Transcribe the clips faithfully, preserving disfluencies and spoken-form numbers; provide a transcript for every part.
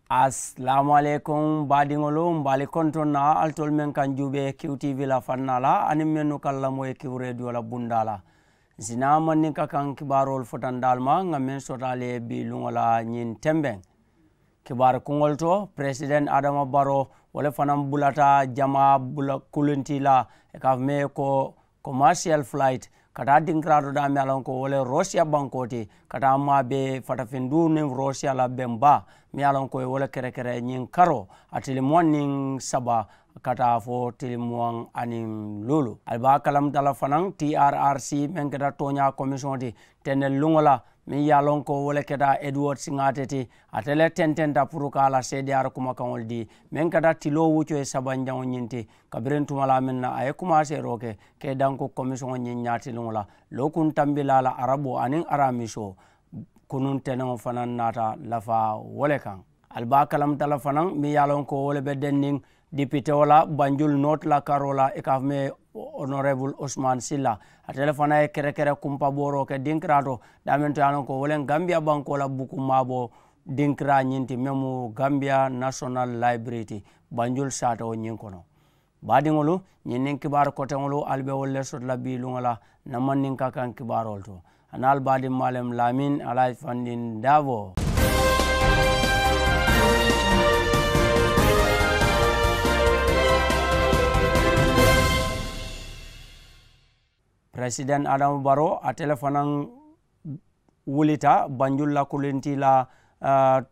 Asalaamu aleykum baadiŋolu, mbe ali kontoŋ na alitolu meŋ kaŋ juubee kiw tiivi la fannaa la aniŋ mennu kaŋ lamoyi kiw reediyo la bundaa la. Ǹ si naa mandinka kaŋ kibaaroolu futandi ali ma ŋà meŋ soto ali ye bii luŋo la ñiŋ tembeŋ. Kibaari kuŋolu to, peresidenti adama baroo wo le fanaa bulata jamaa bula kulintii la, i ka a fo mee ko komaasiyal fulayiti ka taa dinkiraatoo daameŋ ye a loŋ ko wo le roosiya bankoo ti ka taa maabee fatafinduu niŋ roosiya la beŋ baa meŋ ye a loŋ ko i wo le kerekere ñiŋ karoo a tilimuwaŋ niŋ saba ka taa fo tilimuwaŋ aniŋ luulu. Ali be a kalamuta la fanaa, trrc meŋ keta tooñaa komisiyoŋo ti tendel luŋo la meŋ ye a loŋ ko wo le keta eduward siŋaate ti, ate le tententa puru ka a la seediyaari kumakaŋolu dii meŋ keta tiloo wucoo ye sabanjaŋo ñiŋ ti kabiriŋ tumalaa meŋ na a ye kumaaseeroo ke ka i danku komisiyoŋo ñiŋ ñaatiliŋo la lookuŋ tambilaa la araboo aniŋ araamisoo. Kunuŋ teneŋo fanaa naata lafaa wo le kaŋ. Ali be a kalamuta la fanaa meŋ ye a loŋ ko wo le be dendiŋ dipitewo la banjul nooti la karoo la i ka a fo mee onorebulu usman silla, ate le fanaa ye kerekere kumpabooroo ke dinkiraato daameŋ to ye a loŋ ko wo le gambiya bankoo la buku maaboo dinkiraa ñiŋ ti meŋ mu gambiya nasonal layibirii ti banjul saatewo ñiŋ kono. Baadiŋolu, ñiŋ niŋ kibaaru koteŋolu ali be wolu le soto la bii luŋo la ǹ na mandinka kaŋ kibaaroolu to. A niŋ ali baadiŋ maalem laamin alaaji fandiŋ daaboo. Peresidenti adama baroo ate le fanaa wulita banjul la kulintii la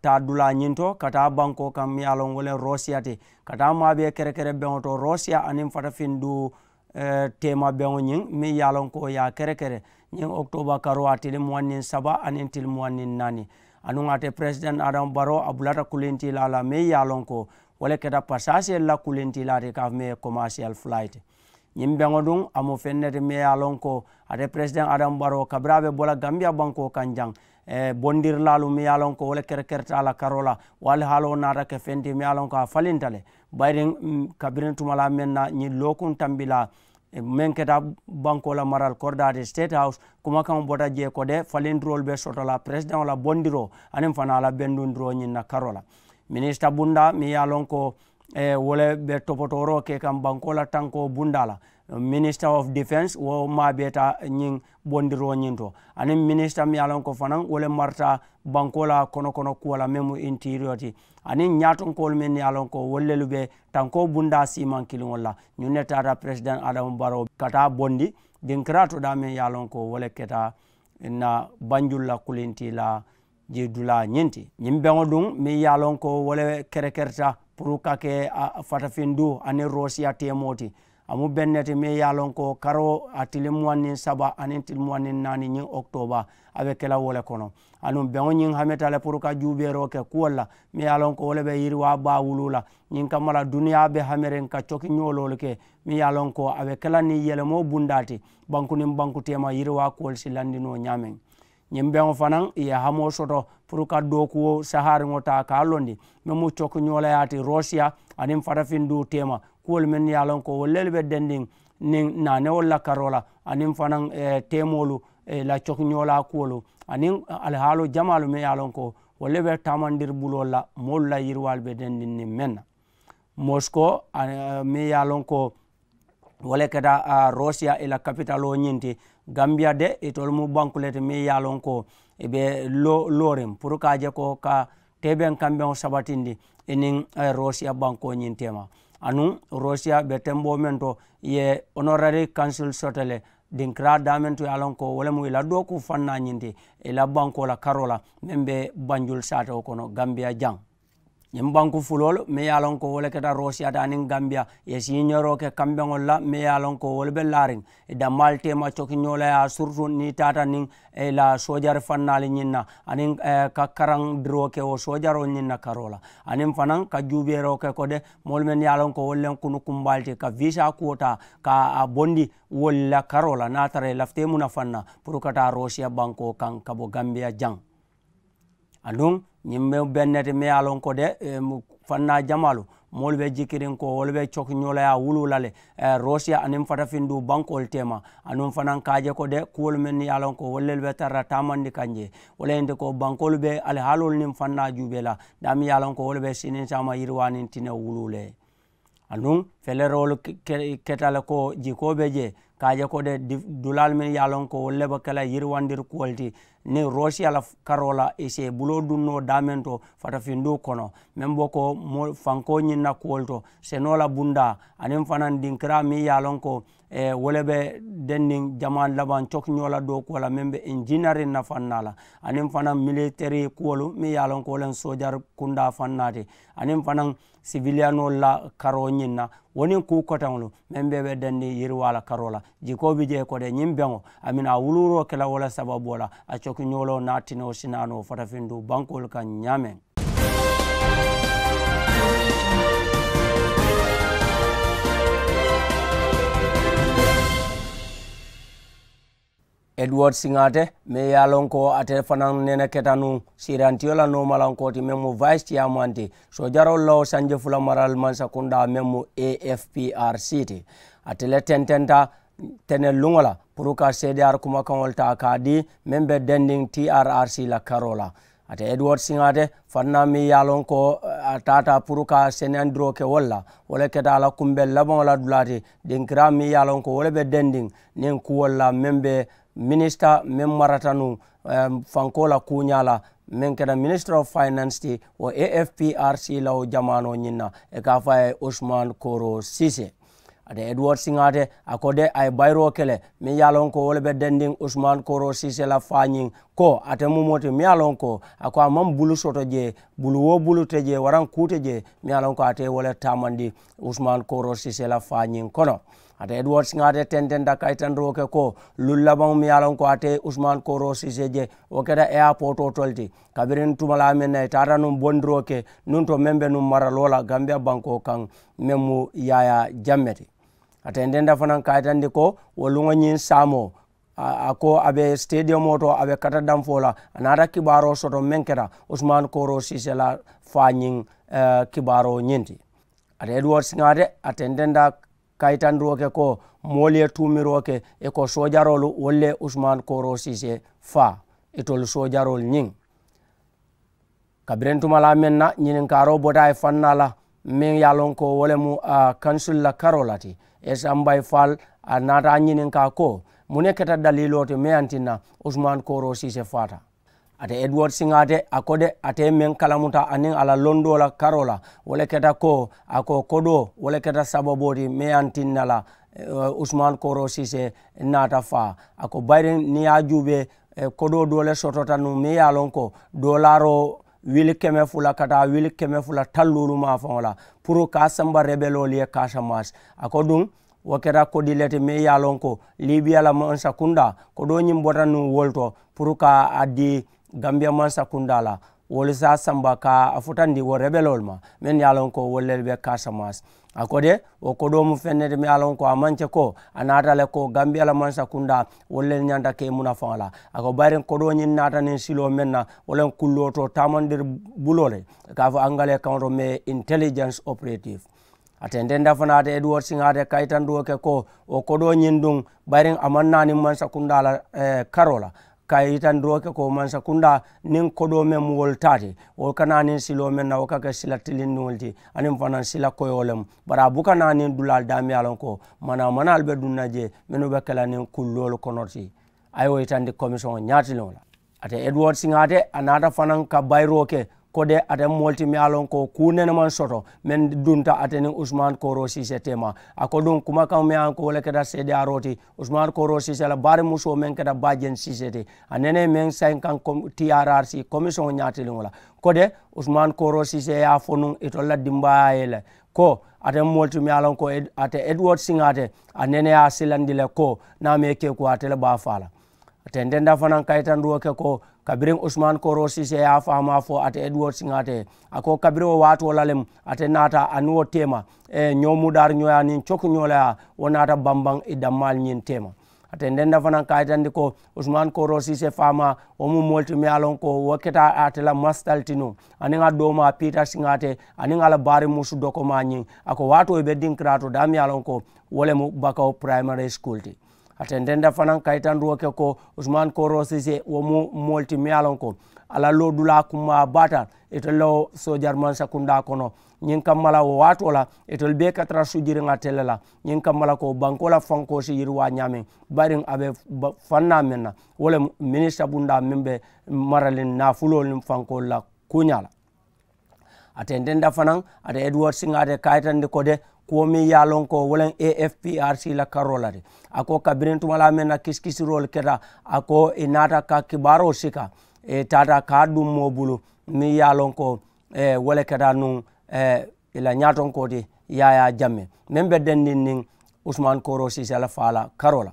taa dulaa ñiŋ to ka taa bankoo kaŋ meŋ ye a loŋ wo le roosiya ti ka taa maabee kerekere beŋo to roosiya aniŋ fatafinduu teema beŋo ñiŋ meŋ ye a loŋ ko ye a kerekere ñiŋ okitooba karoo a tilimuwaŋ niŋ saba aniŋ tilimuwaŋ niŋ naani. Anuŋ ate peresidenti adama baroo a bulata kulintii la a la meŋ ye a loŋ ko wo le keta pasaasiyolu la kulintii la a ti ka a fo mee komaasiyal fulayiti. Ñiŋ beŋo duŋ a mu feŋ ne ti meŋ ye a loŋ ko ate peresidenti adama baroo kabiriŋ a be bo la gambiya bankoo kaŋ jaŋ bondirilaalu meŋ ye a loŋ ko wo le kerekerita a la karoo la wo alihaaloo naata ke feŋ ti meŋ ye a loŋ ko a falinta le. Bayiriŋ kabiriŋ tumalaa meŋ na ñiŋ lookuŋ tambilaa meŋ keta bankoo la maral koridaa ti state house kumakaŋo bota jee ko de falindiroolu be soto la peresideŋo la bondiroo aniŋ fanaa la bendundiroo ñiŋ na karoo la. Minisita bundaa meŋ ye a loŋ ko wo le be topotooroo ke kaŋ bankoo la tankoo bundaa la, minister of defence wo maabeeta ñiŋ bondiroo ñiŋ to aniŋ minisita meŋ ye a loŋ ko fanaa wo le marata bankoo la kono kono kuwo la meŋ mu intiiriyoo ti aniŋ ñaatonkoolu mennu ye a loŋ ko wolu lelu be tankoo bundaa siimaŋ kiliŋolu la. Ñiŋ ne taata peresidenti adama baroo ka taa bondi dinkiraato daameŋ ye a loŋ ko wo le keta ǹ na banjulu la kulintii la jii dulaa ñiŋ ti. Ñiŋ beŋo duŋ meŋ ye a loŋ ko wo le kerekerita puru ka ke fatafinduu aniŋ roosiya teemoo ti. A mu beŋ ne ti meŋ ye a loŋ ko karoo a tilimuwaŋ niŋ saba aniŋ tilimuwaŋ niŋ naani ñiŋ okitooba a be ke la wo le kono. Anuŋ beŋo ñiŋ hameta le puru ka juubeeroo ke kuwolu la meŋ ye a loŋ ko wo le be yiriwaa baa wuluu la. Ñiŋ kamma la duniyaa be hameriŋ ka coki ñooloolu ke meŋ ye a loŋ ko a be ke la niŋ yelemoo bundaa ti banku niŋ banku teema yiriwaa kuwolu si landi noo ñaameŋ. Ñiŋ beŋo fanaa ì ye hamoo soto puru ka dookuwo sahaariŋo taa ka a londi meŋ mu cokiñoolayaa ti roosiya aniŋ fatafinduu teema kuwolu mennu ye a loŋ ko wolu lelu be dendiŋ niŋ naanewolu la karoo la aniŋ fanaa teemoolu la cokiñoolaa kuwolu aniŋ alihaaloo jamaalu mennu ye a loŋ ko wolu le be taamandiri buloolu la moolu la yiriwaalu be dendiŋ niŋ meŋ na. Mosikoo meŋ ye a loŋ ko wo le keta roosiya ì la kapitaloo ñiŋ ti. Gambiya de itolu mu banku le ti meŋ ye a loŋ ko ì be looriŋ puru ka a je ko ka teebeŋ kambeŋo sabatindi ì niŋ roosiya bankoo ñiŋ teema. Anuŋ roosiya be temboo meŋ to ì ye onorari kansil soto le dinkiraa daameŋ to ye a loŋ ko wo le mu ì la dookuu fannaa ñiŋ ti ì la bankoo la karoo la meŋ be banjulu saatewo kono gambiya jaŋ. Ñiŋ banku fuloolu meŋ ye a loŋ ko wo le keta roosiya ti aniŋ gambiya ì ye siiñoroo ke kambeŋolu la meŋ ye a loŋ ko wolu be laariŋ ì dammaalu teema cokiñoo la ye a surutu niŋ ì taata niŋ ì la soojari fannaalu ñiŋ na aniŋ ka karaŋ diroo ke wo soojaroo ñiŋ na karoo la aniŋ fanaa ka juubeeroo ke ko de moolu mennu ye a loŋ ko wolu le kunukumbaalu ti ka viisaa kuwo taa ka a bondi wolu la karoo la niŋ a tara ì lafita ì muna fanna puru ka taa roosiya bankoo kaŋ ka bo gambiya jaŋ. Aduŋ ñiŋ be beŋ ne ti meŋ ye a loŋ ko de fannaa jamaalu Moolu be jikiriŋ ko wolu be cokiñoo la ye a wuluu la le, rosiya aniŋ fatafinduu bankoolu teema. Anuŋ fanaŋ ka a je ko de kuwolu mennu ye a loŋ ko wolu lelu be tara la taamandi kaŋ jee. Wo le ye nte ko bankoolu be alihaaloolu niŋ fannaa juubee la daameŋ ye a loŋ ko wolu be siniŋ saama yiriwaa niŋ tinewo wuluu le. Anuŋ feleroolu keta le ko jikoo be jee ka a je ko de dulaalu mennu ye a loŋ ko wolu le be ke la yiriwandiri kuwo le ti niŋ rosiya la karoo la i si i buloo duŋ noo daameŋ to fatafinduu kono meŋ be ko fankoo ñiŋ na kuwo le to senoo la bundaa aniŋ fanaŋ dinkiraa meŋ ye a loŋ ko wo le be denniŋ jamaa labaŋ cokiñoo la dookuwo la meŋ be injinariŋ na fannaa la aniŋ fanaŋ militeri kuwolu meŋ ye a loŋ ko wo le soojari kundaa fannaa ti aniŋ fanaŋ siviliyanoolu la karoo ñiŋ na wo niŋ kuu koteŋolu meŋ bee be denniŋ yiriwaa la karoo la. Jikoo bi jee ko de ñiŋ beŋo a mina a wuluuroo ke la wo le sababoo la a cokiñooloo niŋ a tinewo sinaanoo fatafinduu bankoolu kaŋ ñaameŋ. Edward siŋaate meŋ ye a loŋ ko ate fanaŋ nene keta nuŋ siirantiyo la noomalankoo ti meŋ mu vice chairman ti soojaroolu la wo sanji fula marali mansakundaa meŋ mu a f p r c ti. Ate le tententa teneluŋo la puru ka seediyaari kumakaŋolu taa ka a dii meŋ be dendiŋ t r r c la karoo la. Ate edward siŋaate fannaa meŋ ye a loŋ ko a taata puru ka seneyandiroo ke wolu la wo le keta a la kumbeŋ labaŋo la dulaa ti dinkiraa meŋ ye a loŋ ko wo le be dendiŋ niŋ kuwolu la meŋ be minisita meŋ marata nuŋ fankoo la kuuñaa la meŋ keta minister of finance ti wo a f p r c la wo jamaanoo ñiŋ na i ka a fo a ye usman koro sise. Ate edward siŋaate a ko de a ye bayiroo ke le meŋ ye a loŋ ko wo le be dendiŋ usman koro sise la faañiŋ ko ate mu moo ti meŋ ye a loŋ ko a ko a maŋ bulu soto jee bulu wo bulu te jee waraŋ kuu te jee meŋ ye a loŋ ko ate wo le taamandi usman koro sise la faañiŋ kono. Ate edward siŋaate tententa kayitandiroo ke ko luŋ labaŋo meŋ ye a loŋ ko ate usman koro sise je wo keta eyapootoo to le ti kabiriŋ tumalaa meŋ na i taata nuŋ bondiroo ke nuŋ to meŋ be nuŋ maraloo la gambiya bankoo kaŋ meŋ mu yaayaa jamme ti. A tententa fanaŋ kayitandi ko wo luŋo ñiŋ saamoo a ko a be sitediyomoo to a be kata danfoo la a naata kibaaroo soto meŋ keta usman koro sise la faañiŋ kibaaroo ñiŋ ti. Ate edward siŋaate a tententa kayitandiroo ke ko moolu ye tuumiroo ke i ko soojaroolu wolu le usman koro sise faa itolu soojaroolu ñiŋ. Kabiriŋ tumalaa meŋ na ñininkaaroo bota a ye fannaa la meŋ ye a loŋ ko wo le mu kansul la karoo la ti esambay fal a naata a ñininkaa ko muŋ ne keta daliiloo ti meŋ ye a tinna usman koro sise faata. Ate edward siŋaate a ko de ate meŋ kalamuta aniŋ a la londoo la karoo la wo le keta ko a ko kodoo wo le keta sababoo ti meŋ ye a tinna la usman koro sise naata faa a ko bayiriŋ niŋ ye a juubee kodoo doo le sotota nuŋ meŋ ye a loŋ ko doolaaroo wili keme fula ka taa wili keme fula talluulu maafaŋo la puru ka a samba rebeloolu ye kaasamaasi. A ko duŋ wo keta kodi le ti meŋ ye a loŋ ko libiya la mansakundaa kodoo ñiŋ bota nuŋ wolu to puru ka a dii gambiya mansakundaa la wolu se a samba ka a futandi wo rebeloolu ma mennu ye a loŋ ko wolu lelu be kaasamaasi. A ko de wo kodoo mu feŋ ne ti meŋ ye a loŋ ko a maŋ ke ko a naata le ko gambiya la mansakundaa wolu le ñanta ke munafaŋo la. A ko bayiriŋ kodoo ñiŋ naata niŋ siloo meŋ na wo le kulloo to taamandiri buloo le ka a fo angale kaŋo to mais intelligence operative. A tententa fanaa te edward siŋa te kayitandiwo ke ko wo kodoo ñiŋ duŋ bayiriŋ a maŋ naa niŋ mansakundaa la karoo la ka yitandiroo ke ko mansakundaa niŋ kodoo meŋ mu wolu taa ti wo kana niŋ siloo meŋ na wo ka ke sila tilindiŋolu ti aniŋ fanaŋ sila koyoo lemu. Bari a buka naa niŋ dulaalu daameŋ ye a loŋ ko manaa manaalu be duŋ na jee mennu be ke la niŋ kulloolu kono ti. A ye wo yitandi komisiyoŋo ñaatiliŋo la. Ate edward siŋa te a naata fanaŋ ka bayiroo ke ko de ate moolu ti meŋ ye a loŋ ko kuu nene maŋ soto meŋ dunta ate niŋ usman kooroo siisee teema. A ko duŋ kumakaŋo meŋ ye a loŋ ko wo le keta seedeyaaroo ti usman kooroo siisee la baari musoo meŋ keta baajeŋ siisee ti a nene meŋ sayiŋ kaŋ trrc komisiyoŋo ñaatiliŋo la ko de usman kooroo siisee ye a fo nuŋ itolu la dimbaayaa ye le ko ate moolu ti meŋ ye a loŋ ko ate edward siŋa te a nene ye a silandi le ko niŋ a maŋ i ke ko ate le be a faa la. A tententa fanaŋ kayitandiwo ke ko kabiriŋ usman kooroo siisee ye a faamaa fo ate edward siŋa te a ko kabiriŋ wo waatoo la lemu ate naata aniŋ wo teema ñoo mudaari ñooyaa niŋ coki ñoo la yaa wo naata bambaŋ i dammaalu ñiŋ teema. A tendenda fanaŋ ka a yitandi ko usman korosise faamaa wo mu moolu ti miŋ ye a loŋ ko wo keta ate la masitaliti nuŋ aniŋ a doomaa piita siŋaate aniŋ a la baari musu dokomaa ñiŋ. A ko waatoo i be dinkiraato daa miŋ ye a loŋ ko wo le mu bakawo primary school ti. A tendenda fanaŋ ka yitanduwo ke ko usman korosise wo mu moolu ti miŋ ye a loŋ ko a la loodulaa kummaa baata itelu la wo soojari mansakundaa kono. Ñiŋ kamma la wo waatoo la itelu bee ka tara sujiriŋ ate le la. Ñiŋ kamma la ko bankoo la fankoo si yiriwaa ñaameŋ bariŋ a be fannaa meŋ na wo le minisita bundaa meŋ be maraliŋ naafuloolu niŋ fankoolu la kuuñaa la. A tententa fanaŋ ate edward siŋa ate kayitandi ko de kuwo meŋ ye a loŋ ko wo le a f p r c la karoo la de. A ko kabiriŋ tumalaa meŋ na kisikisiroolu keta a ko i naata ka kibaaroo sika i taata ka a duŋ moo bulu meŋ ye a loŋ ko wo le keta nuŋ i la ñaatonkoo ti yaayaa jamme meŋ be dendiŋ niŋ usman korosise la faa la karoo la.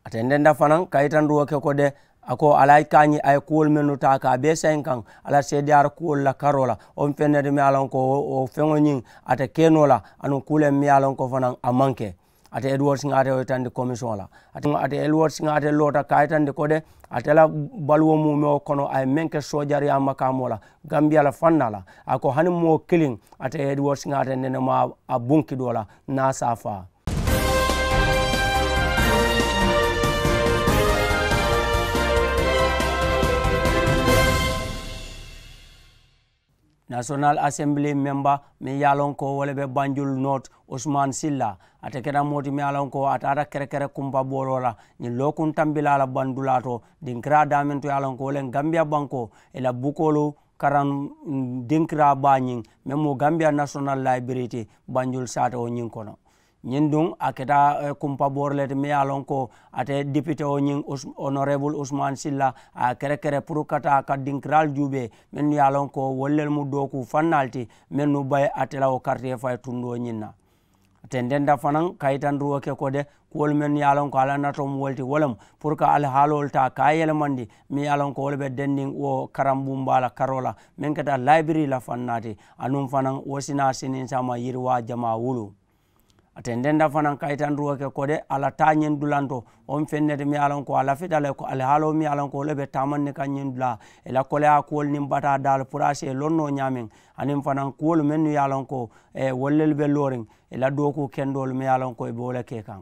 A tendenta fanaŋ ka yitanduwo ke ko de a ko a la a ye kaañi a ye kuwolu mennu taa ka a bee sayiŋ kaŋ a la seediyaari kuwolu la karoo la. Wo mu feŋ ne ti meŋ ye a loŋ ko wo feŋo ñiŋ ate ke noo la anuŋ kuuleŋ meŋ ye a loŋ ko fanaŋ a maŋ ke. Ate edward siŋa ate wo yitandi komisiyoŋo la. Ate edward siŋa ate loota ka a yitandi ko de ate la baluwo muumewo kono a ye meŋ ke soojariyaa makaamoo la gambiya la fannaa la. A ko hani moo kiliŋ ate edward siŋa ate nene maŋ a bunki doo la niŋ a se a faa. National assembly member meŋ ye a loŋ ko wo le be banjul north usman silla. Ate keta moo ti meŋ ye a loŋ ko a taata kerekere kumpa booloo la ñiŋ lookuŋ tambilaa la bandulaa to dinkiraa daameŋ to ye a loŋ ko wo le gambiya bankoo i la bukoolu karaŋ dinkiraa baa ñiŋ meŋ mu gambiya national library ti banjul saatewo ñiŋ kono. Ñiŋ duŋ a keta kumpaboori le ti meŋ ye a loŋ ko ate dipitewo ñiŋ honorable usman silla a ye a kerekere puru ka taa ka dinkiraalu juubee mennu ye a loŋ ko wolu lelu mu dookuu fannaalu ti mennu be ate la wo karitee fayi tundoo ñiŋ na. A tententa fanaŋ ka yitandiruwo ke ko de kuwolu mennu ye a loŋ ko a la natoo mu wo le ti wo le mu puru ka alihaaloolu taa ka a yelemandi meŋ ye a loŋ ko wo le be denniŋ wo karambumbaa la karoo la meŋ keta layibirii la fannaa ti. Anuŋ fanaŋ wo si naa siniŋ saama yiriwaa jamaa wulu. A tententa fanaŋ ka yitandiruwo ke ko de a la taa ñiŋ dulanto wo mu feŋ ne ti meŋ ye a loŋ ko a lafita le ko alihaaloo meŋ ye a loŋ ko wo le be taamandi kaŋ ñiŋ dulaa i la koleyaa kuwolu niŋ bataa daalu puru a si ye loŋ noo ñaameŋ. Aniŋ fanaŋ kuwolu mennu ye a loŋ ko wolu lelu be looriŋ i la dookuu kendoolu meŋ ye a loŋ ko i be wo le ke kaŋ.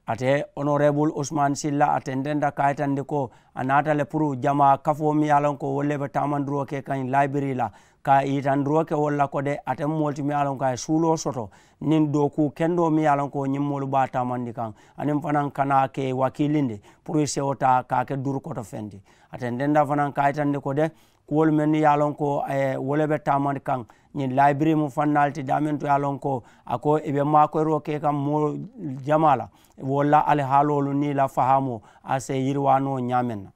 Ate honorable usman silla a tententa ka a yitandi ko a naata le puru jamaa kafoo meŋ ye a loŋ ko wolu le be taamandiroo ke kaŋ layibirii la ka yitandiroo ke wolu la ko de ate mu moolu ti meŋ ye a loŋ ko a ye suuloo soto niŋ dookuu kendoo meŋ ye a loŋ ko ñiŋ moolu be a taamandi kaŋ. Aniŋ fanaŋ kana a ke wakiilindi puru i sewo taa ka a ke durukoto feŋ ti. A tententa fanaŋ ka a yitandi ko de kuwolu mennu ye a loŋ ko wo le be taamandi kaŋ ñiŋ layibirii mu fannaalu ti daameŋ to ye a loŋ ko a ko i be maakoyiroo ke kaŋ moo jamaa la wolu la alihaaloolu niŋ i la fahaamoo a se yiriwaa noo ñaameŋ na.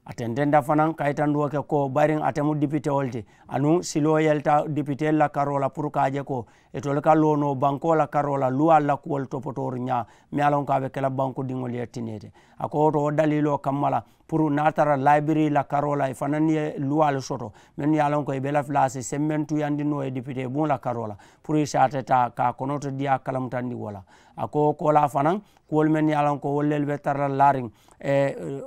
A tententa fanaŋ ka yitandiwo ke ko bayiriŋ ate mu dipitewo le ti anuŋ siloo yelita dipiteelu la karoo la puru ka a je ko itolu ka loo noo bankoo la karoo la luwaalu la kuwolu topotooru ñaa meŋ ye a loŋ ko a be ke la bankudiŋolu ye tinee ti. A ko wo to wo daliiloo kamma la puru niŋ a tara layibirii la karoo la i fanaŋ ye luwaalu soto mennu ye a loŋ ko i be lafilaa si semmentuyandi noo ye dipitee buŋo la karoo la puru i si a te taa ka a konoto diyaa kalamutandi wo la. A ko wo koolaa fanaŋ kuwolu mennu ye a loŋ ko wolu lelu be tara la laariŋ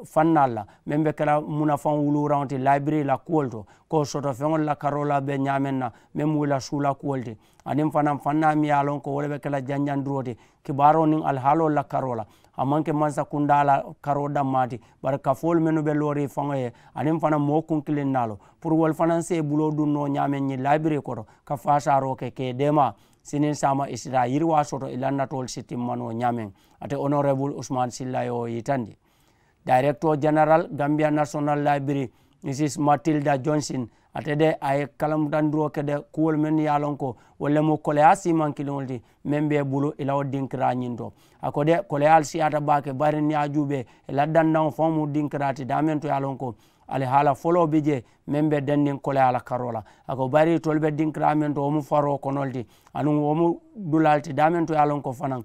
fannaalu la meŋ be ke la munafaŋ wuluuraŋo ti layibirii la kuwolu to ko soto feŋolu la karoo la be ñaameŋ na meŋ mu i la suula kuwolu ti. Aniŋ fanaŋ fannaa meŋ ye a loŋ ko wo le be ke la janjandiroo ti kibaaroo niŋ alihaaloolu la karoo la. A maŋ ke mansakundaa la karoo dammaa ti bari kafoolu mennu be looriŋ faŋo ye aniŋ fanaŋ moo kunkiliŋ naalu puru wolu fanaŋ si i buloo duŋ noo ñaameŋ ñiŋ layibirii koto ka faasaaroo ke ka i deemaa siniŋ saama i si taa yiriwaa soto i la natoolu si timma noo ñaameŋ. Ate honorable usman silla ye wo yitandi. Director general gambia national library mrs matilda johnson ate de a ye kalamutandiroo ke de kuwolu mennu ye a loŋ ko wolu le mu koleyaa siimaŋ kiliŋolu ti meŋ be i bulu i la wo dinkiraa ñiŋ to. A ko de koleyaalu siyaata baake bari niŋ ye a juubee i la dandaŋo faŋo mu dinkiraa ti daameŋ to ye a loŋ ko alihaala foloo bi jee meŋ be denniŋ koleyaa la karoo la. A ko bari itolu be dinkiraa meŋ to wo mu faroo kono le ti anuŋ wo mu dulaa le ti daameŋ to ye a loŋ ko fanaŋ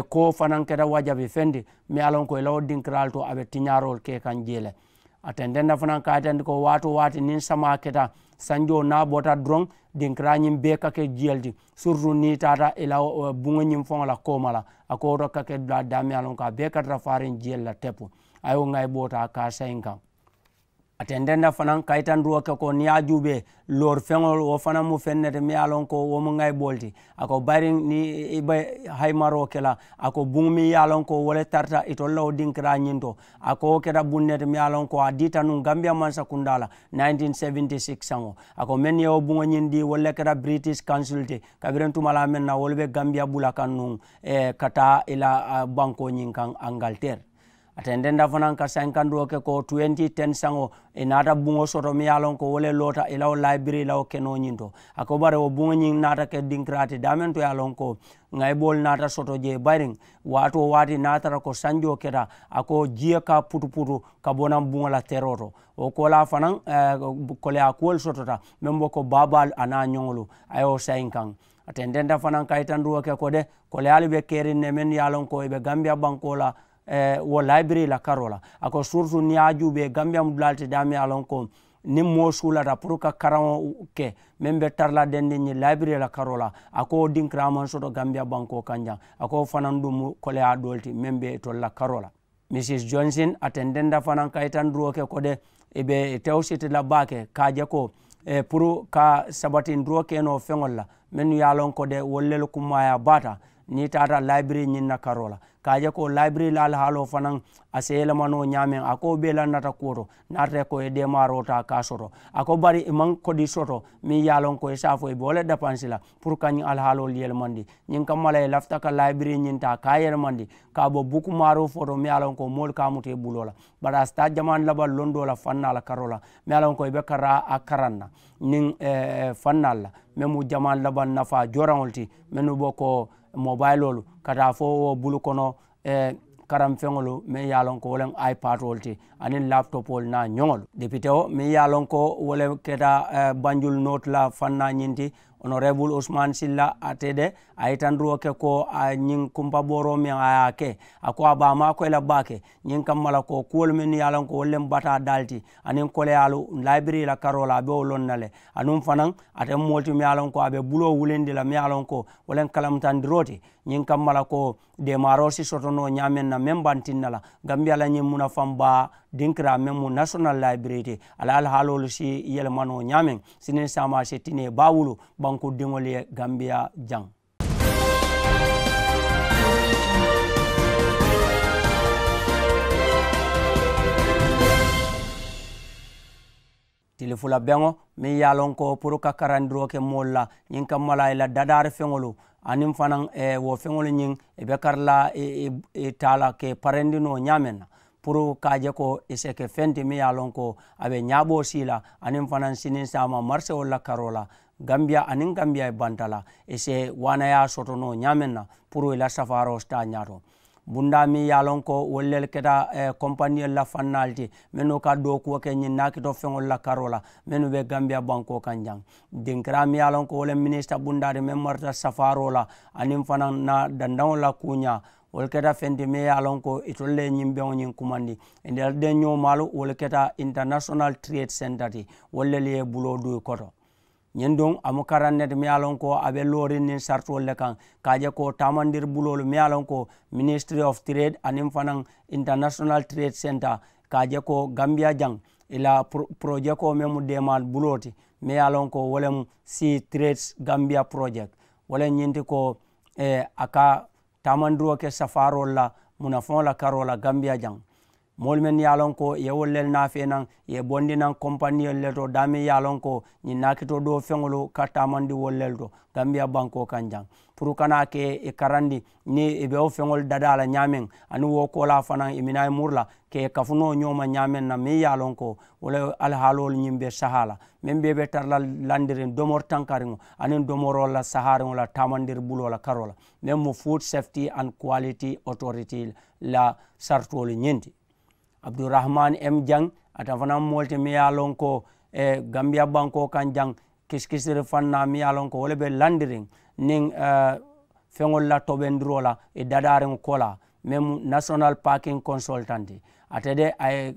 ko fanaŋ keta wajabi feŋ ti meŋ ye a loŋ ko i la wo dinkiraalu to a be tiñaaroolu ke kaŋ jee le. A tententa fanaŋ ka a yitandi ko waatoo waati niŋ samaa keta Sanjoo niŋ a bota doroŋ, dinkiraañiŋ bee ka ke jiyolu ti, siritu niŋ i taata i la buŋo ñiŋ faŋo la kooma la. A ko wo to ka ke dulaa daameŋ ye a loŋ ko a bee ka tara faariŋ jiyolu la tepu. A ye wo ŋayiboota ka a sayi n kaŋ. A tententa fanaŋ ka yitandiroo ke ko niŋ i ye a juubee, loori feŋolu wo fanaŋ mu feŋ ne ti meŋ ye a loŋ ko wo mu ŋayiboolu ti. A ko bayiriŋ niŋ i be hayimaroo ke la, a ko buŋo meŋ ye a loŋ ko wo le tarata itolu la wo dinkiraa ñiŋ to. A ko wo keta buŋ ne ti meŋ ye a loŋ ko a diita nuŋ gambiya mansakundaa la nineteen seventy six saŋo. A ko meŋ ye wo buŋo ñiŋ dii wolu le keta british council ti, kabiriŋ tumalaa meŋ na wolu be gambiya bula kaŋ nuŋ ka taa i la bankoo ñiŋ kaŋ angaliteeri. A tententa fanaŋ ka sankandoo ke ko twenty ten saŋo, i naata buŋo soto meŋ ye a loŋ ko wo le loota i la wo layibirii la wo kenoo ñiŋ to. A ko bari wo buŋo ñiŋ naata ke dinkiraa ti daameŋ to ye a loŋ ko ŋayiboolu naata soto jee bayiriŋ. Waati wo waati niŋ a tara ko sanjoo keta, a ko jiyo ka putuputu ka bo naŋ buŋo la teroo to. Wo koolaa fanaŋ koleyaa kuwolu sotota meŋ be ko baabaalu aniŋ a ñoŋolu, a ye wo sayi n kaŋ. A tententa fanaŋ ka yitandiroo ke ko de, koleyaalu be keriŋ ne mennu ye a loŋ ko i be gambiya bankoo la wo layibirii la karoo la. A ko siritu niŋ i ye a juubee gambiya mu dulaalu ti daameŋ ye a loŋ ko niŋ moo suulata puru ka karaŋo ke meŋ be tara la dendiŋ ñiŋ layibirii la karoo la. A ko wo dinkiraa maŋ soto gambiya bankoo kaŋ jaŋ. A ko wo fanaŋ duŋ mu koleyaa doolu ti meŋ be itolu la karoo la. Misis jonsin a tententa fanaŋ ka yitandiroo ke ko de, i be tewo siti la baake ka a je ko puru ka sabatindiroo ke noo feŋolu la mennu ye a loŋ ko de wolu lelu kummaayaa baata. Niŋ i taata layibirii ñiŋ na karoo la ka a je ko layibirii la alihaaloo fanaŋ a si yelema noo ñaameŋ a ko wo bee lannata kuwo to. Niŋ a tara ko i ye deemaaroo taa ka a soto a ko bari i maŋ kodi soto meŋ ye a loŋ ko i si a fo i be wo le dapansi la puru ka ñiŋ alihaaloolu yelemandi. Ñiŋ kamma la i lafita ka layibirii ñiŋ taa ka a yelemandi ka a bo buku maaruufoo to meŋ ye a loŋ ko moolu ka a muta i buloo la. Bari a si taa jamaanu labaŋ londoo la fannaa la karoo la meŋ ye a loŋ ko i be kara a karaŋ na niŋ fannaalu la meŋ mu jamaanu labaŋ nafaa jooraŋolu ti mennu be ko mobayiloolu ka taa fo wo bulu kono. Karaŋ feŋolu meŋ ye a loŋ ko wo le mu ayipaatoolu ti aniŋ laputopoolu niŋ a ñoŋolu depitewo meŋ ye a loŋ ko wo le keta banjulu nooti la fannaa ñiŋ ti. Onoreebulu usmaani silla ate de a ye yitandiroo ke ko a ñiŋ kumpabooroo meŋ a ye a ke a ko a be a maakoyi la baake. Ñiŋ kamma la ko kuwolu mennu ye a loŋ ko wolu le mu bataa daalu ti aniŋ koleyaalu layibirii la karoo la a be wo loŋ na le. Anuŋ fanaŋ ate mu moolu ti meŋ ye a loŋ ko a be buloo wulindi la meŋ ye a loŋ ko wo le mu kalamutandiroo ti. Ñiŋ kamma la ko deemaaroo si soto noo ñaameŋ na meŋ be a tinna la gambiya la ñiŋ munafaŋ baa dinkiraa meŋ mu nasonal layibirii ti a la alihaaloolu si yelema noo ñaameŋ siniŋ saamaa si tinee baa wulu banku diŋolu ye gambiya jaŋ. Tili fula beŋo meŋ ye a loŋ ko puru ka karandiroo ke moolu la ñiŋ kamma la i la dadaari feŋolu aniŋ fanaŋ wo feŋolu ñiŋ i be kari la i taa la ka i parendi noo ñaameŋ na puru ka a je ko i si ke feŋ ti meŋ ye a loŋ ko a be ñaaboo sii la aniŋ fanaŋ siniŋ saama marisewolu la karoo la. Gambiya aniŋ gambiya ye banta la i si waanayaa soto noo ñaameŋ na puru i la safaaroo si taa ñaato. Bundaa meŋ ye a loŋ ko wolu le keta kompaniyolu la fannaalu ti mennu ka dookuwo ke ñiŋ naakito feŋolu la karoo la mennu be gambiya bankoo kaŋ jaŋ. Dinkiraa meŋ ye a loŋ ko wo le minisita bundaa ti meŋ marata safaaroo la aniŋ fanaŋ na dandaŋo la kuuñaa wolu keta feŋ ti meŋ ye a loŋ ko itolu le ye ñiŋ beŋo ñiŋ kumandi. Ite la deŋ ñoomaalu wolu keta international trade center ti wolu le ye buloo duu i koto. Ñiŋ duŋ a mu karaŋ ne ti meŋ ye a loŋ ko a be looriŋ niŋ saritoolu le kaŋ ka a je ko taamandiri buloolu meŋ ye a loŋ ko ministry of trade aniŋ fanaŋ international trade center ka a je ko gambiya jaŋ i la porojekoo meŋ mu deemaa buloo ti meŋ ye a loŋ ko wo le mu si trades gambiya project. Wo le ñiŋ ti ko a ka taamandiroo ke safaaroolu la munafaŋo la karoo la gambiya jaŋ. Moolu mennu ye a loŋ ko i ye wolu lelu naafee naŋ i ye bondi naŋ kompaniyolu le to daameŋ ye a loŋ ko ñiŋ naakitoo doo feŋolu ka taamandi wolu lelu to gambiya bankoo kaŋ jaŋ puru kana ke i karandi niŋ i be wo feŋolu dadaa la ñaameŋ aniŋ wo koolaa fanaŋ i minaa i muru la ka i kafunoo ñooma ñaameŋ na meŋ ye a loŋ ko wo le alihaaloolu ñiŋ be sahaa la meŋ bee be tara la landiriŋ domori tankariŋo aniŋ domoroo la sahaariŋo la taamandiri buloo la karoo la meŋ mu food safety and quality authority la saritoolu ñiŋ ti. Abdurahman m jaŋ ate fanaŋ moolu ti meŋ ye a loŋ ko gambiya bankoo kaŋ jaŋ kisikisiri fannaa meŋ ye a loŋ ko wo le be landiriŋ niŋ feŋolu la tobendiroo la i dadaariŋ kola meŋ mu national parking consultant ate de a ye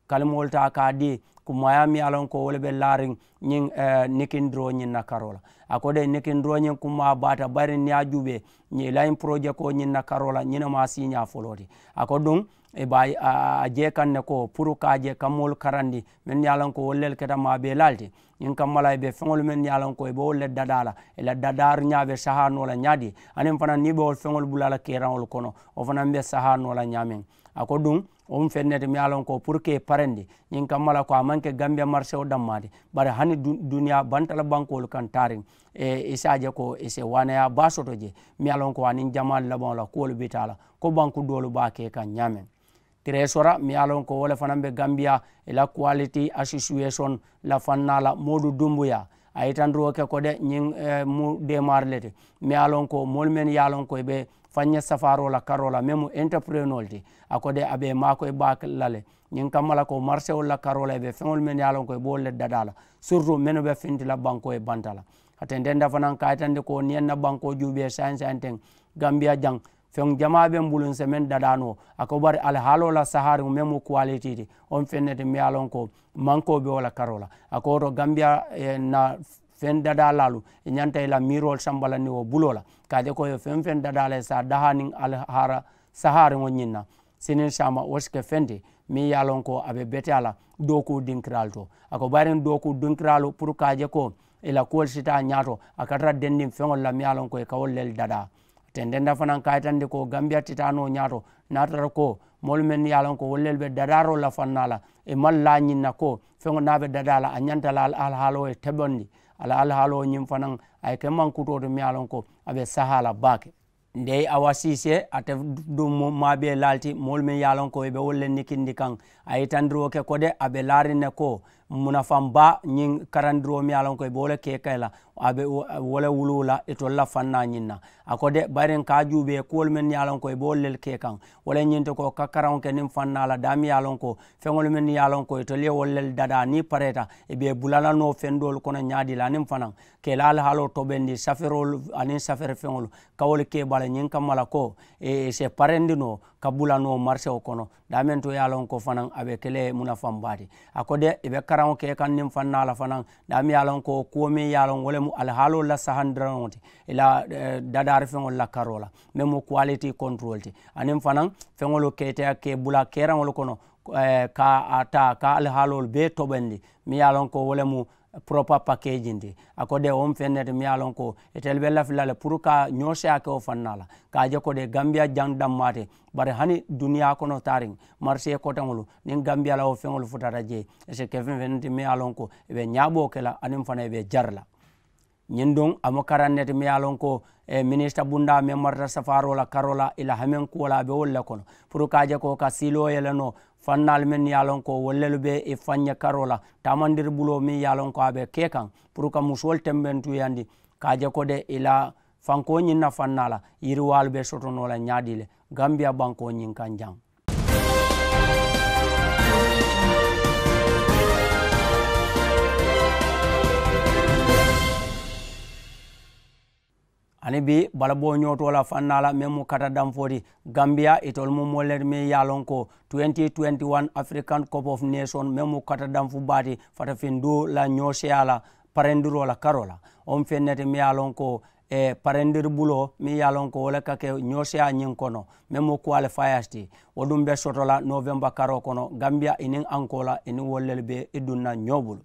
kalimoolu taa ka a dii Kumaayaa miŋ ye a loŋ ko wo le be laariŋ ñiŋ nikindiroo ñiŋ na karoo la. A ko de nikindiroo ñiŋ kumaa baata bari niŋ i ye a juubee ñiŋ i la ñiŋ porojekoo ñiŋ na karoo la ñiŋ ne mu a siiñaa foloo ti. A ko duŋ i be a jee kaŋ ne ko puru ka a je ka moolu karandi mennu ye a loŋ ko wolu le keta maabeelaalu ti. Ñiŋ kamma la i be feŋolu mennu ye a loŋ ko i be wolu le dadaa la i la dadaariñaa be sahaa noo la ñaadii aniŋ fanaa niŋ i be wolu feŋolu bula la keeraŋolu kono wo fanaa be sahaa noo la ñaameŋ. A ko duŋ wo mu feŋ ne ti miŋ ye a loŋ ko puru ka i parendi ñiŋ kamma la ko a maŋ ke gambiya marisewo dammaa ti. Bari hani duniyaa banta la bankoolu kaŋ taariŋ i si a je ko i si waaneyaa baa soto jee miŋ ye a loŋ ko aniŋ jamaalu labaŋo la kuwolu bi taa la ko banku doolu be a ke kaŋ ñaameŋ. Tireesora miŋ ye a loŋ ko wo le fanaa be gambiya i la kuwaliti asosiyesoni la fannaa la moodu dumbuyaa a ye itandiroo ke ko de ñiŋ mu deemaari le ti. Miŋ ye a loŋ ko moolu mennu ye a loŋ ko i be faŋ ñe safaaroo la karoo la meŋ mu entopurenoolu ti a ko de a be i maakoyi baa la le. Ñiŋ kamma la ko marisewolu la karoo la i be feŋolu mennu ye a loŋ ko i be wolu le dadaa la siritu mennu be finti la bankoo ye banta la. A tententa fanaa ka a yitandi ko niŋ i ye n na bankoo juubee saayiŋ saayiŋ teŋ gambiya jaŋ feŋ jamaa be n bulu n se meŋ dadaa noo. A ko bari alihaaloo la sahaariŋo meŋ mu kuwalitii ti wo mu feŋ ne ti miŋ ye a loŋ ko mankoo be wo la karoo la. A ko wo to gambiya na feŋ dadaa laalu i ñanta i la miiroolu samba la niŋ wo buloo la ka a je ko i ye feŋ feŋ dadaa la i se a dahaa niŋ alihaara sahaariŋo ñiŋ na siniŋ saama wo si ke feŋ ti meŋ ye a loŋ ko a be beteyaa la dookuu dinkiraalu to. A ko bayiriŋ dookuu dinkiraalu puru ka a je ko i la kuwolu si taa ñaato a ka tara dendiŋ feŋolu la meŋ ye a loŋ ko i ka wolu lelu dadaa. Tendenda fanaŋ ka a yitandi ko gambiya titaanoo ñaato niŋ a tara ko moolu mennu ye a loŋ ko wolu lelu be dadaaroo la fannaa la i maŋ laa ñiŋ na ko feŋo niŋ a be dadaa la a ñanta la alihaaloo ye tebondi. A la alihaaloo ñiŋ fanaŋ a ye ke maŋ kutoo ti meŋ ye a loŋ ko a be sahaa la baake. Ndey awa siisee ate duŋ mu maabee laalu ti moolu meŋ ye a loŋ ko i be wolu le nikindi kaŋ a ye itandiroo ke ko de a be laariŋ ne ko munafaŋ baa ñiŋ karandiroo meŋ ye a loŋ ko i be wo le ke kayi la a be wo le wuluu la itolu la fannaa ñiŋ na. A ko de bayiriŋ ka a juubee kuwolu mennu ye a loŋ ko i be wolu le ke kaŋ wo le ñiŋ ti ko ka karaŋo ke niŋ fannaa la daameŋ ye a loŋ ko feŋolu mennu ye a loŋ ko itolu ye wolu le dadaa niŋ i pareeta i be i bula la noo feŋ doolu kono ñaadii la aniŋ fanaŋ ka i la alihaaloo tobendi saferoolu aniŋ saferi feŋolu ka wolu ke i bala ñiŋ kamma la ko i si parendi noo ka bula noo marisewo kono daameŋ to ye a loŋ ko fanaŋ a be ke le munafaŋ baa ti. A ko de i be karaŋo ke kaŋ niŋ fannaa la fanaŋ daameŋ ye a loŋ ko kuwo meŋ ye a loŋ wo le mu alihaaloolu la sahandiraŋo ti i la dadaari feŋolu la karoo la meŋ mu kuwaliti kontorolu ti aniŋ fanaŋ feŋolu ke ite ke bula keeraŋolu kono ka a taa ka alihaaloolu bee tobendi meŋ ye a loŋ ko wo le mu poropa pakeejiŋ ti. A ko de wo mu feŋ ne ti meŋ ye a loŋ ko itelu be lafi la le puru ka ñoo seyaa ke wo fannaa la ka a je ko de gambiya jaŋ dammaa ti. Bari hani duniyaa kono taariŋ marisee koteŋolu niŋ gambiya la wo feŋolu futata jee i si ke feŋ feŋ ne ti meŋ ye a loŋ ko i be ñaaboo ke la aniŋ fanaŋ i be jari la. Ñiŋ duŋ a mu karaŋ ne ti meŋ ye a loŋ ko minisita bundaa meŋ marata safaaroo la karoo la i la hameŋ kuwo la a be wolu le kono puru ka a je ko ka siiloo yele noo fannaalu mennu ye a loŋ ko wolu lelu be i faŋ ñe karoo la taamandiri buloo meŋ ye a loŋ ko a be ke kaŋ puru ka musoolu tembentuuyandi ka a je ko de i la fankoo ñiŋ na fannaa la yiriwaalu be soto noo la ñaadii le gambiya bankoo ñiŋ kaŋ jaŋ. Aniŋ bii balaboo ñootoo la fannaa la meŋ mu kata danfoo ti gambiya itolu mu moolu le ti meŋ ye a loŋ ko twenty twenty one african cup of nation meŋ mu kata danfu baa ti fatafinduu la ñooseyaa la parendiroo la karoo la. Wo mu feŋ ne ti meŋ ye a loŋ ko parendiri buloo meŋ ye a loŋ ko wo le ka ke ñooseyaa ñiŋ kono meŋ mu qualifiers ti wo duŋ be soto la novemba karoo kono gambiya i niŋ ankoo la i niŋ wolu lelu be i duŋ na ñoo bulu.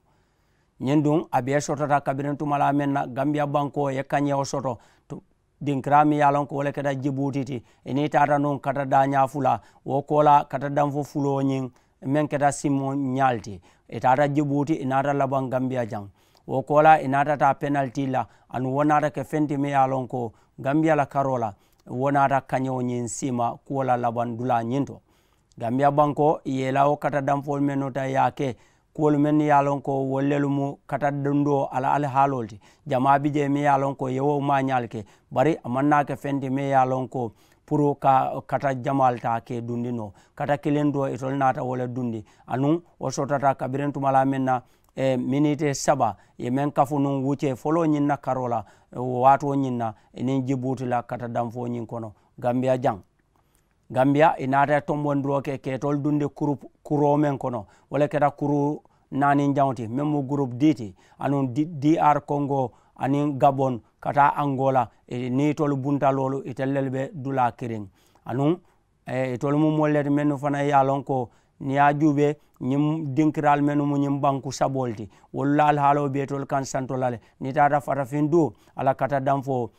Ñiŋ duŋ a bee sotota kabiriŋ tumalaa meŋ na gambiya bankoo ye kañewo soto dinkiraa meŋ ye a loŋ ko wo le keta jibuuti ti i niŋ i taata nuŋ kata daañaa fula wo koolaa kata danfu fuloo ñiŋ meŋ keta simoñaalu ti i taata jibuuti i naata labaŋ gambiya jaŋ. Wo koolaa i naata taa penaliti la anuŋ wo naata ke feŋ ti meŋ ye a loŋ ko gambiya la karoo la wo naata kañewo ñiŋ siima kuwo la labaŋ dulaa ñiŋ to. Gambiya bankoo i ye i la wo kata danfoolu mennu ta i ye a ke kuwolu mennu ye a loŋ ko wolu lelu mu kata dundoo a la alihaaloolu ti. Jamaa bi jee meŋ ye a loŋ ko i ye wo maañaalu ke bari a maŋ naa ke feŋ ti meŋ ye a loŋ ko puru ka kata jamaalu taa ka i dundi noo kata kiliŋ doo itolu naata wo le dundi anuŋ wo sotota kabiriŋ tumalaa meŋ na miniti saba i ye meŋ kafu nuŋ wuccee foloo ñiŋ na karoo la waatoo ñiŋ na i niŋ jibuuti la kata danfoo ñiŋ kono gambiya jaŋ. Gambiya i naata tombondiroo ke ka i tolu dundi kuroo meŋ kono wo le keta kuruu naaniŋ jaŋo ti meŋ mu gurupu dii ti anuŋ dr kongo aniŋ gabon ka taa angola. Niŋ itolu bunta loolu itelu lelu be dulaa kiriŋ anuŋ itolu mu moolu le ti mennu fanaŋ ye a loŋ ko niŋ ye a juubee ñiŋ dinkiraalu mennu mu ñiŋ banku saboolu ti wolu la alihaaloo be itolu kaŋ santo la le niŋ i taata fatafiŋ duu a la kata danfoo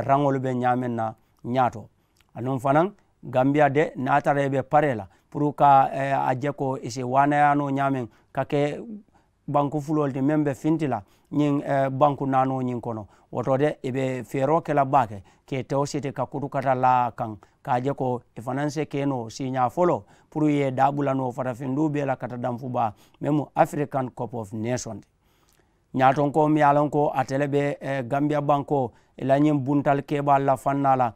raŋolu be ñaameŋ na ñaato. Anuŋ fanaŋ gambiya de niŋ a tara i be paree la puru ka a je ko i si waanayaanoo ñaameŋ ka ke banku fuloolu ti meŋ be finti la ñiŋ banku naanoo ñiŋ kono. Wo to de i be feeroo ke la baake ka i tewo siti ka kutukata laa kaŋ ka a je ko i fanaŋ se ke noo siiñaa foloo puru i ye i daabula noo fatafiŋ duu bee la kata danfu baa meŋ mu african cup of nation ti. Ñaatonkoo miŋ ye a loŋ ko ate le be gambiya bankoo i la ñiŋ buntali keebaalu la fannaa la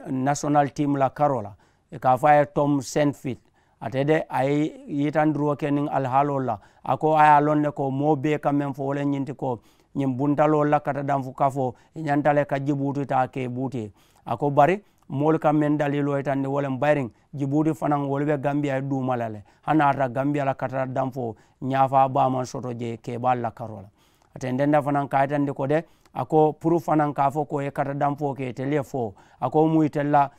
national team la karoo la i ka a fo a ye tom senfit ate de a ye yitandiroo ke niŋ alihaaloolu la a ko a ye a loŋ ne ko moo bee ka meŋ fo wo le ñiŋ ti ko ñiŋ buntaloolu la kata danfu kafoo i ñanta le ka jibuuti taa ke buuti a ko bari moolu ka meŋ daliiloo yitandi wo le bayiriŋ jibuuti fanaŋ wolu be gambiya ye duuma la le hani a tara gambiya la kata danfoo ñaafaa baa maŋ soto jee keebaalu la karoo la. A tententa fanaŋ ka a yitandi ko de a ko puru fanaŋ ka a fo ko i ye kata danfoo ke itelu ye fo a ko mu itelu la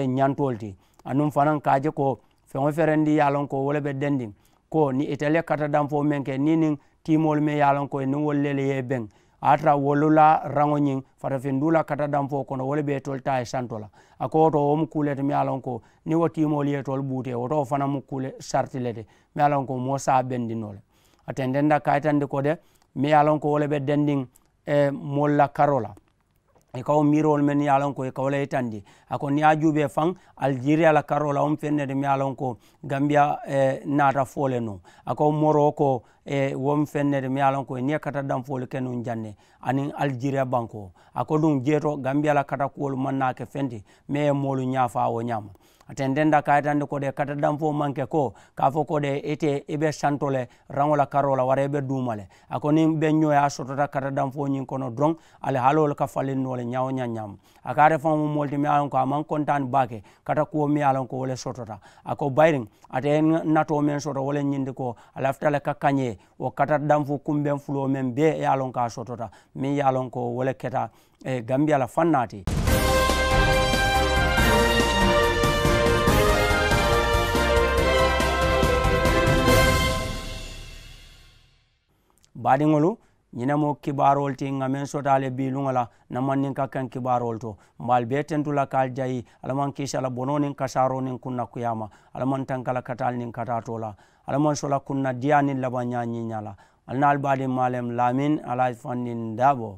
ñantoolu ti anuŋ fanaŋ ka a je ko feŋo ferendi ye a loŋ ko wo le be dendiŋ ko niŋ itelu ye kata danfoo meŋ ke niŋ niŋ tiimoolu meŋ ye a loŋ ko i niŋ wolu le ye i beŋ a ye a tara wolu la raŋo ñiŋ fatafiŋ duu la kata danfoo kono wo le be itolu taa ye santo la. A ko wo to wo mu kuu le ti meŋ ye a loŋ ko niŋ wo tiimoolu ye itolu buutee wo to wo fanaŋ mu kuu le sariti le ti meŋ ye a loŋ ko moo se a bendi noo le. A tententa ka a yitandi ko de meŋ ye a loŋ ko wo le be dendiŋ moolu la karoo la i ka wo miiroolu mennu ye a loŋ ko i ka wo le yitandi. A ko niŋ ye a juubee faŋ alijeriya la karoo la wo mu feŋ ne ti meŋ ye a loŋ ko gambiya naata fo le nuŋ a ko moroko wo mu feŋ ne ti meŋ ye a loŋ ko i niŋ ye kata danfoolu ke nuŋ jaŋ ne aniŋ alijeriya bankoo a ko duŋ jee to gambiya la kata kuwolu maŋ naa ke feŋ ti meŋ ye moolu ñaafaa wo ñaama. A tententa ka a yitandi ko de kata danfoo maŋ ke ko ka a fo ko de ite i be santo le raŋo la karoo la wara i be duuma le a ko niŋ be ñoo ye a sotota kata danfoo ñiŋ kono doroŋ alihaaloo le ka faliŋ noo le ñaa wo ñaa ñaama. A ko ate faŋo mu moolu ti meŋ ye a loŋ ko a maŋ kontaani baake kata kuwo meŋ ye a loŋ ko wo le sotota. A ko bayiriŋ ate ye natoo meŋ soto wo le ñindi ko a lafita le ka kañee wo kata danfu kumbeŋ fuloo meŋ bee ye a loŋ ko a sotota meŋ ye a loŋ ko wo le keta gambiya la fannaa ti. Baadiŋolu ñiŋ ne mu kibaaroolu ti ŋa meŋ soto a le bii luŋo la na maŋ niŋ ka kaŋ kibaaroolu to. Mbe ali bee tentu la ka ali jayi alla maŋ kiisa la bonoo niŋ kasaaroo niŋ kunna kuyaama. Alla maŋ tanka la kataali niŋ kataatoo la. Alla maŋ sola kunna diyaa niŋ labaŋ ñaa ñiiñaa la. Ali naa ali baadiŋ maalem laamin alaaji fandiŋ daaboo.